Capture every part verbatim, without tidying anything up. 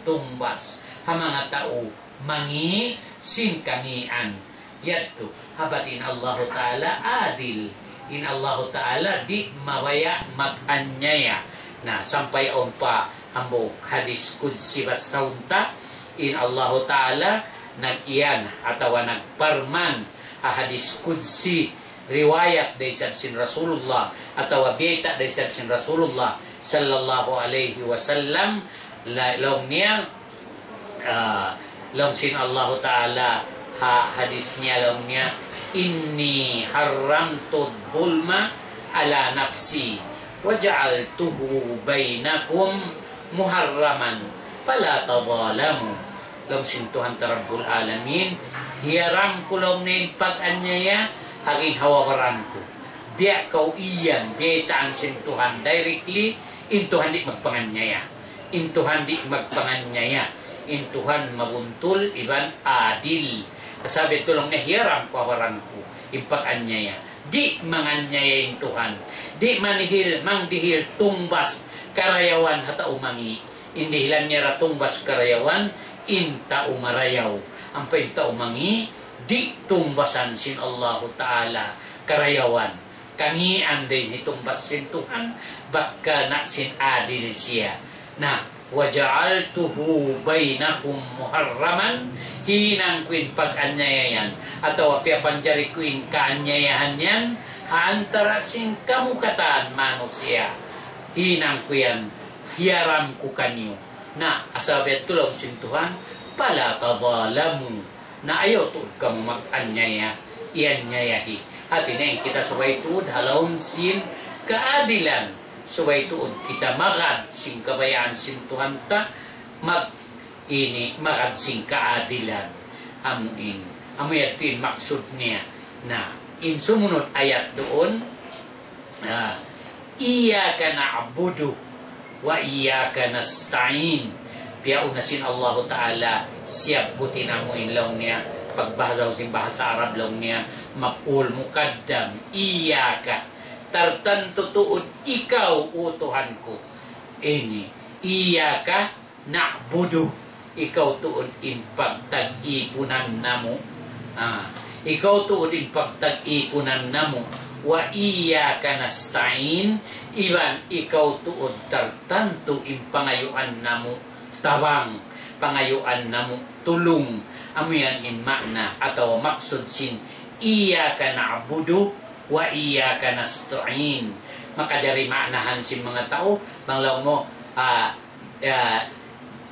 tungbas ha manga tau mangi' sin kangīan. Yadtu, ha bat in Allahu Ta'ala adil. In Allahu Ta'ala di' mabaya' mag-anyaya. Na, sampay awn pa hambuuk hadis qudsi basahun ta, in Allahu Ta'ala nag-iyan atawa nagparman ha hadis qudsi, riwayat da isab sin Rasulullah, atawa biyayta' da isab sin Rasulullah sallallahu alayhi wasallam, la-, laung niya, ah, laung sin Allahu Ta'ala ha hadis niya, laung niya, إني حرمت الظلم على نفسي وجعلته بينكم محرما فلا تظالموا. Laung sin Tuhan ta Rabbul Alamin, hiyaram ku laung niya in pag-anyaya ha ginhawa-baran ku. Biya' kaw iyan, biyaytaan sin Tuhan directly, in Tuhan di' magpanganyaya. In Tuhan di' magpanganyaya. In Tuhan mabuntul iban adil. Sabab yadtu laung niya, hiyaram ku ha baran ku in pag-anyaya. Di' manganyaya in Tuhan. Di' manihil, mangdihil tungbas karayawan ha tau mangi'. In dihilan niya ra tungbas karayawan, in tau marayaw. Ampa in tau mangi', di' tungbasan sin Allahu Ta'ala karayawan. Kangīan da in hitungbas sin Tuhan, bat ka na sin adil siya. Na, وجعلته بينكم محرما, hinang ku in pag-anyaya yan, atawa piyapanjari ku in kaanyayahan yan, ha antara' sin kamu katan manusiya'. Hinang ku yan, hiyaram ku kaniyu. Na, sabab yadtu laung sin Tuhan, فلا تظالموا. Na ayaw tuud kamu mag-anyaya, iyanyayahi. Hati niya in kita subay tuud ha lawm sin kaadilan. Subay tuud kita magad sin kabayaan sin Tuhan ta, mag-, ini, magad sin kaadilan. Amu in, amu yadtu in maksud niya. Na, in sumunud ayat duun, Ah, إياك نعبد وإياك نستعين. Piyauna sin Allahu Ta'ala, siyabbut in amu in laung niya, pagbahasa sin bahasa Arab laung niya, maf'ul muqaddam, إياك. Tartantu tuud ikaw, O Tuhan ku. Ini, إياك نعبد, ikaw tuud in pagtag-ipunan namu'. Ah, ikaw tuud in pagtag-ipunan namu'. وإياك نستعين, iban ikaw tuud tartantu in pangayuan namu' tabang, pangayuan namu' tulung. Amu yan in maana atawa maksud sin إياك نعبد وإياك نستعين. Makajari maanahan sin manga tau, bang laung mu, ah, ah,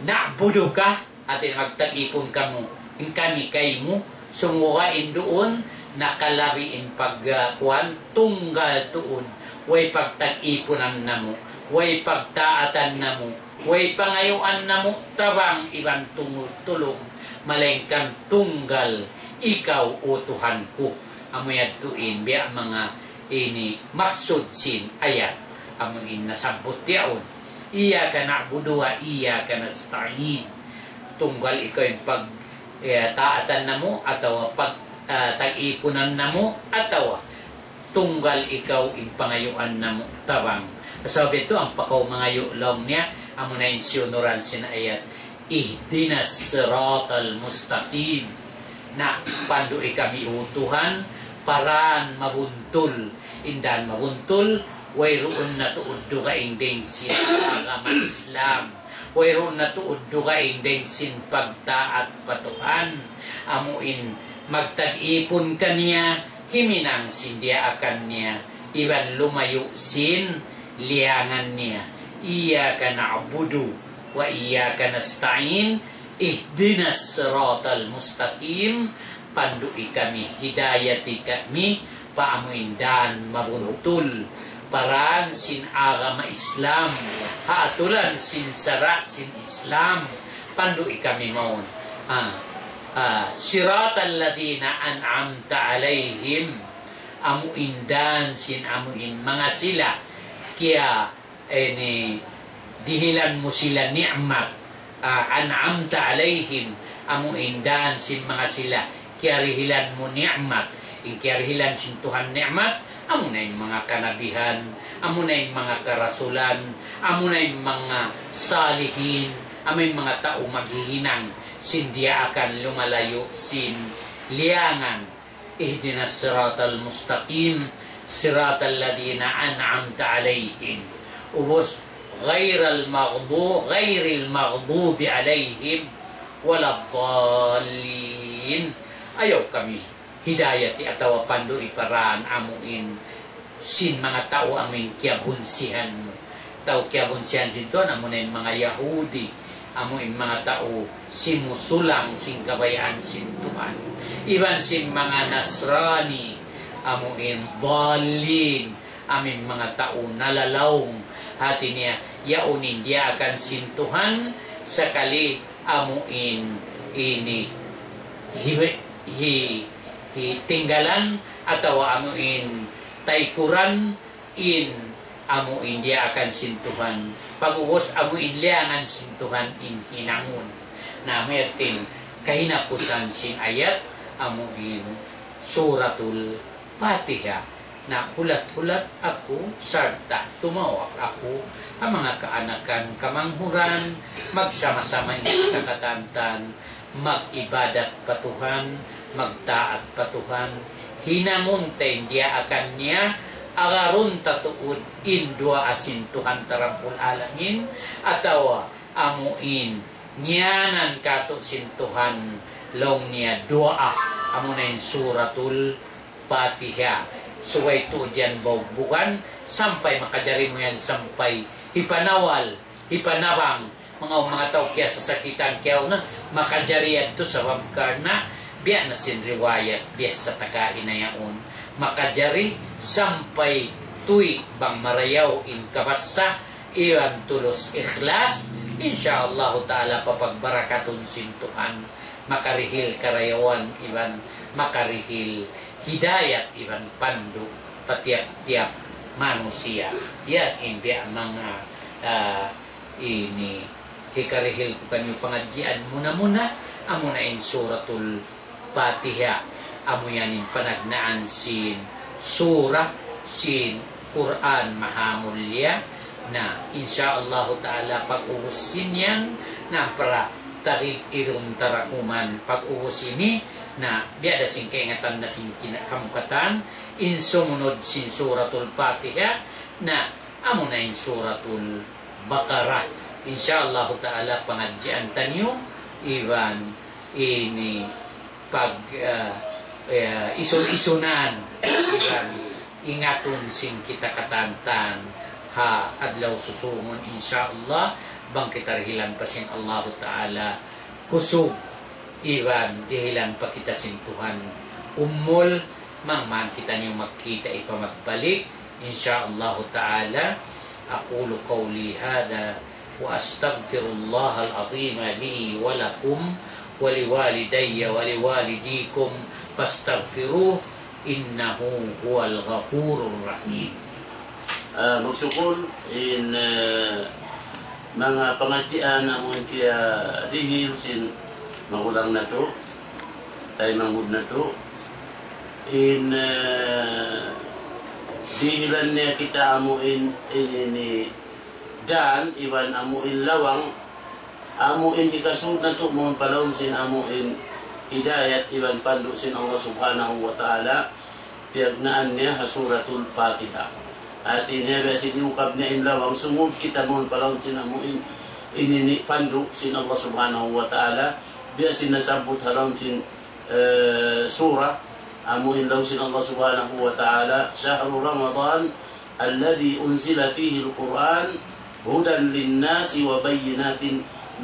نعبدك, hati magtag-ipun kamu, in kami kaymu, sumagawa' in duun, nakalabi in pag, ah, kuwan, tunggal tuud, way pagtag-ipunan namu', way pagtaatan namu', way pangayuan namu', tabang iban tungud tulung, malaingkan tunggal ikaw, O Tuhan ku. Amu yadtu in biya' manga ini maksud sin ayat, amu in nasabbut yaun. إياك نعبد وإياك نستعين. Tunggal ikaw in pag, eh, taatan namu', atawa pag, ah, tag-ipunan namu', atawa tunggal ikaw in pangayuan namu' tabang. Sabab yadtu ampa kaw mangayu' laung niya, amu na in siyunuran sin ayat, اهدنا الصراط المستقيم. Na, pandu'i kami, O Tuhan, pa dan mabuntul. In dan mabuntul, wayruun na tuud dugaing dayn sin agama Islam. Wayruun na tuud dugaing dayn sin pagtaat pa Tuhan. Amu in magtag-ipun kaniya, himinang sin diyaakan niya, iban lumayu' sin liyangan niya. إياك نعبد وإياك نستعين. اهدنا الصراط المستقيم. Pandu'i kami, hidayati kami, pa amu in dan mabuntul, pa dan sin agama Islam, ha aturan sin sara' sin Islam, pandu'i kami mawn. Ah, ah, صراط الذين أنعمت عليهم. Amu in dan sin amu in manga sila kiya, ini, dihilan mu sila ni'mat, ah, أنعمت عليهم, amu in dan sin manga sila kiyarihilan mu ni'mat. In kiyarihilan sin Tuhan ni'mat, amu na in manga kanabihan, amu na in manga karasulan, amu na in manga salihin, Amu in manga tau maghihinang sin diyaakan lumalayu' sin liyangan. اهدنا الصراط المستقيم، صراط الذين أنعمت عليهم. Ubus, غير المغضو-، غير المغضوب عليهم ولا الضالين. Ayaw kami hidayati atawa pandu'i pa dān amu in sin manga tau amu in kiyabunsihan mu. Tau kiyabunsihan sin Tuhan amu na in manga Yahudi, amu in manga tau simusulang sin kabayaan sin Tuhan. Iban sin manga Nasrani, amu in dallin, amu in manga tau nalalaung. Hāti niya, yaun in diyaakan sin Tuhan, sakali amu in ini hi, hi, hi tinggalan atawa amu in taykuran in amu in diyaakan sin Tuhan. Pag'ubus amu in liyangan sin Tuhan in hinangun. Na, amu yadtu in kahinapusan sin ayat amu in Suratul Fatiha. Na, hulat-hulat aku, sarta' tumawag aku, ha manga kaanakan, kamanghuran, magsama-sama in kita katantan, mag-ibadat pa Tuhan, magtaat pa Tuhan, hinangun ta in diyaakan niya, agarun ta tuud in duwaa sin Tuhan ta Rabbul Alamin, atawa amu in ngiyanan kātu' sin Tuhan, laung niya duwaa, amu na in Suratul Fatiha. Subay tuud yan baubugan, sampay makajari mu yan sampay hipanawal, hipanabang, manga, manga tau kiyasasakitan kiyauna, makajari yadtu sabab karna' biya' na sin riwayat biya' sa ta kaina yaun. Makajari sampay tuwi' bang marayaw in kabassa, iban tulus ikhlas, insya Allahu ta'ala papagbarakatun sin Tuhan, makarihil karayawan iban makarihil hidayat iban pandu' pa tiyap-tiyap manusiya'. Yan in biya' manga, ah, ini hikarihil ku kaniyu pangadjian muna-muna, amu na in Suratul Fatiha. Amu yan in panagnaan sin sura sin Qur'an mahamulliya. Na, insya Allahu ta'ala, pag'ubus sin yan, na, para tarig irun tarakuman pag'ubus ini, na, biya' da sin kaingatan na sin kina-, kamu katan, in sumunud sin Suratul Fatiha, na, amu na in Suratul Baqarah. Insya Allahu ta'ala, pangadjian taniyu, iban ini pag, ah, eh, isun-isunan, iban ingatun sin kita katantan ha adlaw susungun, insya Allah, bang kita dihilan pa sin Allahu ta'ala kusug, iban dihilan pa kita sin Tuhan umul, mangman kitaniyu magkita' pa magbalik, insya Allahu ta'ala. أقول قولي هذا وأستغفر الله العظيم لي ولكم ولوالدي ولوالديكم فاستغفروه إنه هو الغفور الرحيم. Ah, magsukul in, eh, manga pangadjian amu in kiyadihil sin magulang natu', taymanghud natu'. In, eh, dihilan niya kita amu in, in ini dan iban amu in lawang, amu in hikasud natu' mawn pa lawm sin amu in hidayat iban pandu' sin Allah Subhanahu wa Ta'ala, piyagnaan niya ha Suratul Fatiha. Hati niya biya' sin iyukab niya in lawang, sumud kita mawn pa lawm sin amu in, in ini pandu' sin Allah Subhanahu wa Ta'ala, biya' sin nasabbut ha lawm sin, eh, surah, amu in laung sin Allah Subhanahu wa Ta'ala, شهر رمضان الذي أنزل فيه القرآن هدى للناس وبينات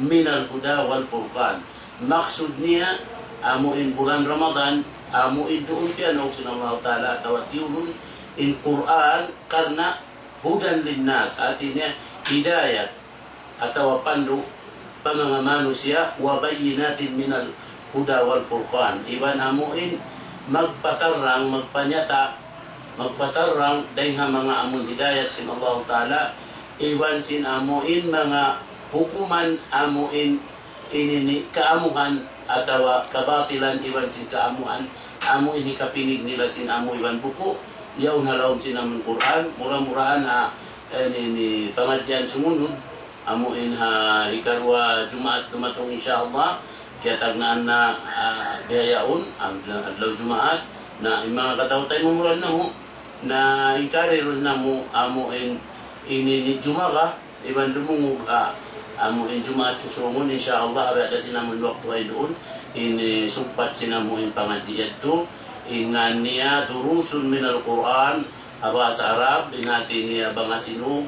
من الهدى والفرقان. Maksud niya, amu in bulan Ramadan, amu in duun piyanaug sin Allah Ta'ala atawa tiyurun in Qur'an karna' هدى للناس, hati niya hidayat atawa pandu' pa manga manusiya', وبينات من الهدى والفرقان. Iban amu in magpatarrang, magpanyata', magpatarrang dayn ha manga amun hidayat sin Allahu Ta'ala, iban sin amu in manga hukuman amu in ini ini kaamuhan atawa kabatilan iban sin kaamuhan, amu ini kapinig nila sin amu iban buku', yaun ha lawm sin amun Qur'an, mura-murahan ha, ini ini pangadjian sumunud, Amu in ha ikaruwa Jumaat dumatung, insya Allah, kiyatagnaan na, ah, bihaun, adlaw, adlaw Jumaat, na in manga kataw-taymanghuran namu', na inkari duun namu', amu in, ini ni Jumaga, iban dumungug, ah, amu in Jumaat susungun, insya Allah, biya' da sin amun waktu ay duun, ini sugpat sin amu in pangadji' yadtu, in ngan niya durusun minal Qur'an, ha bahasa Arab, in hati niya bang ha Sinug,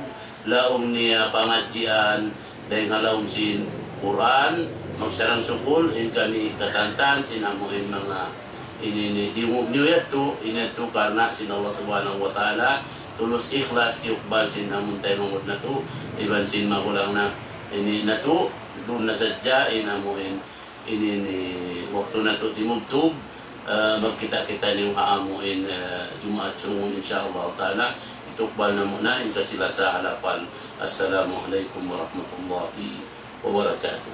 laung niya pangadjian, dayng ha lawm sin Qur'an, magsarang-sukul, in kami katantan, sin amu in manga ini ni diyungug niyu yadtu, ini yadtu karna' sin Allah Subhanahu wa Ta'ala, tulus ikhlas tiyukbal sin amun taymanghud natu', iban sin magulang na ini natu', duun na sadja in amu in ini ni waktu natu' timubtub, ah, magkita'-kita' niyu ha amu in, ah, Jumaat sungun, insya Allah Ta'ala, itukbal namu' na in kasi-lasa ha lapal. Assalamu alaykum warahmatullahi wabarakatuh.